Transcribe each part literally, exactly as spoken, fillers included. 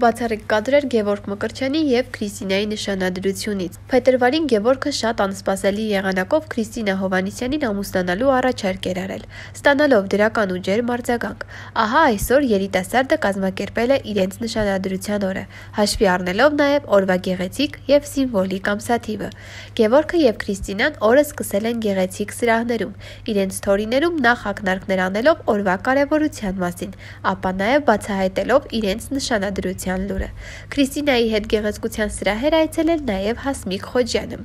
Բացառիկ կադրեր Գևորգ Մկրտչյանի և Քրիստինայի նշանադրությունից։ Փետրվարին Գևորգը շատ անսպասելի եղանակով Քրիստինա Հովհաննիսյանին ամուսնանալու առաջարկ էր արել, ստանալով դրական ու ջերմ արձագանք։ Ահա այսօր երիտասարդը կազմակերպել է իրենց նշանադրության օրը, հաշվի առնելով նաև օրվա գեղեցիկ և սիմվոլիկ ամսաթիվը։ Գևորգը և Քրիստինան օրը սկսել են գեղեցիկ սրահներում, իրենց սթորիներում նախ ակնարկներ անելով օրվա կարևորության մասին, ապա նաև բացահայտելով իրենց նշանադրության լուրը։ Քրիստինայի հետ գեղեցկության սրահեր այցելել նաև Հասմիկ Խոջյանը։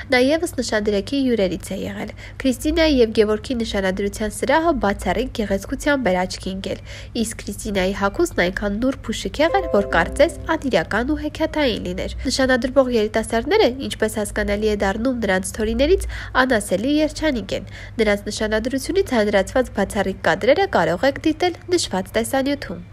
Նա ևս նշանдрեքի հյուրերից է եղել։ Քրիստինայի և Գևորգի նշանադրության սրահը բացառիկ գեղեցկությամբ էր աչքի ընկել, իսկ Քրիստինայի հագուստն այնքան նուրբ ու շքեղ էր, որ կարծես անիրական ու հեքիաթային լիներ։ Նշանադրվող երիտասարդները, ինչպես հասկանալի է դառնում նրանց սթորիներից, անասելի երջանիկ են։ Նրանց նշանադրությունից հանրացված բացառիկ կադրերը կարող եք դիտել նշված տեսանյութում։